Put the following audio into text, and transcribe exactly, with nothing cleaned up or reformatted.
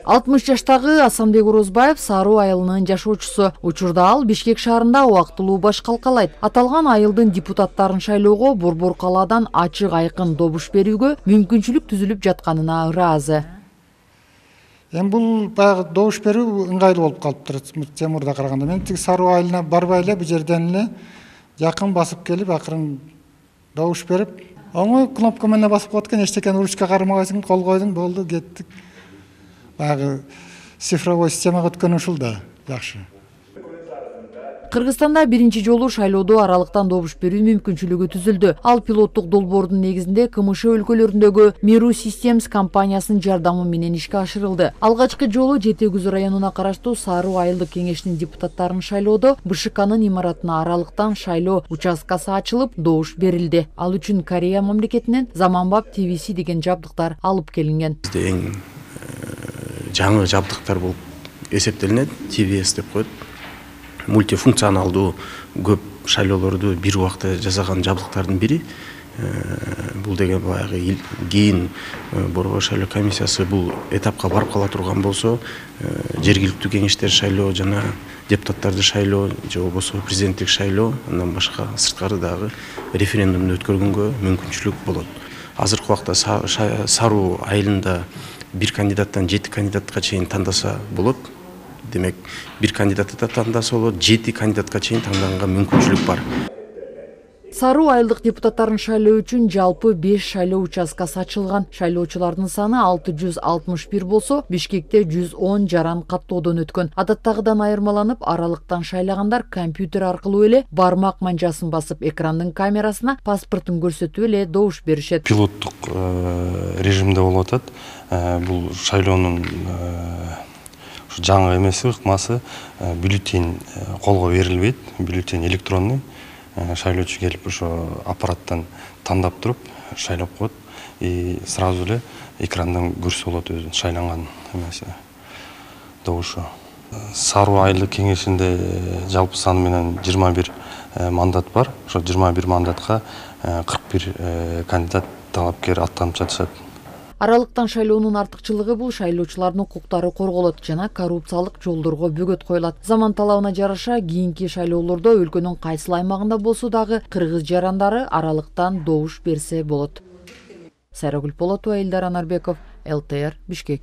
алтымыш жаштагы Асанбек Орозбаев Саруу айылынын жашоочусу. Учурда ал Бишкек шаарында убактылуу баш калкалайт. Аталган айылдын депутаттарын шайлоого Борбор калаадан ачык айкын добуш берүүгө мүмкүнчүлүк түзүлүп жатканына ыраазы. Эми бул баягы добуш берүү ыңгайлуу болуп калыптыр Темурда караганда. Мен тиги Саруу айылына барбай эле бу жерден эле жакын басып келип, акырын добуш берип, оңой кнопка менен басып коет экен, эчтекени ручка кармабайсың, кол койдуң, болду, кеттик. Баягы цифровой системага өткөн ушул да жакшы. Кыргызстанда биринчи жолу шайлоодо аралыктан добуш берүү мүмкүнчүлүгү түзүлдү. Ал пилоттук долбоордун негизинде КМШ өлкөлөрүндөгү Miru Systems компаниясынын жардамы менен ишке ашырылды. Алгачкы жолу Жети Күз районуна караштуу Саруу айылдык кеңештин депутаттарын шайлоодо БШКнын имаратына аралыктан шайлоо участкасы ачылып, добуш берилди. Ал үчүн Корея мамлекетинен заманбап T V C деген жабдыктар алып келинген. Эң жаңы жабдыктар болуп эсептелинет, T V S деп коет. Мультифункционалдуу көп шайлоолорду бир убакта жасаган жабдыктардын бири. Бул деген баягы кийин Борбор шайлоо комиссиясы бул этапка барып кала турган болсо, жергиликтүү кеңештер шайлоо жана депутаттарды шайлоо же болбосо президенттик шайлоо, андан башка сырткары дагы референдумду өткөргөнгө мүмкүнчүлүк болот. Азыркы убакта Саруу айылында бир кандидаттан жети кандидатка чейин тандаса болот. Демек, бир кандидатты да тандаса болот, жети кандидатка чейин танданганга мүмкүнчүлүк бар. Саруу айылдык депутаттарын шайлоо үчүн жалпы беш шайлоо участкасы ачылган. Шайлоочулардын саны алты жүз алтымыш бир болсо, Бишкекте жүз он жаран каттоодон өткөн. Адаттагыдан айырмаланып, аралыктан шайлагандар компьютер аркылуу эле бармак манжасын басып, экрандын камерасына паспортун көрсөтүп эле добуш беришет. Пилоттук режимде болуп атат. Бул шайлоонун жаңы эмеси, ыкмасы, бюллетень колго берилбейт, бюллетень электронный. Шайлоочу келип ошо аппараттан тандап туруп шайлап коет и сразу эле экрандан көрсө болот өзүнүн шайланган эмеси, добушу. Саруу айылдык кеңешинде жалпы саны менен жыйырма бир мандат бар. Ошо жыйырма бир мандатка кырк бир кандидат талапкер аттанып жатышат. Аралыктан шайлоонун артыкчылыгы бул шайлоочулардын укуктары корголот жана коррупциялык жолдорго бөгөт коюлат. Заман талабына жараша кийинки шайлоолордо өлкөнүн кайсыл аймагында болсо дагы кыргыз жарандары аралыктан добуш берсе болот. Сайрагүл Полотова, Элдар Анарбеков, Л Т Р, Бишкек.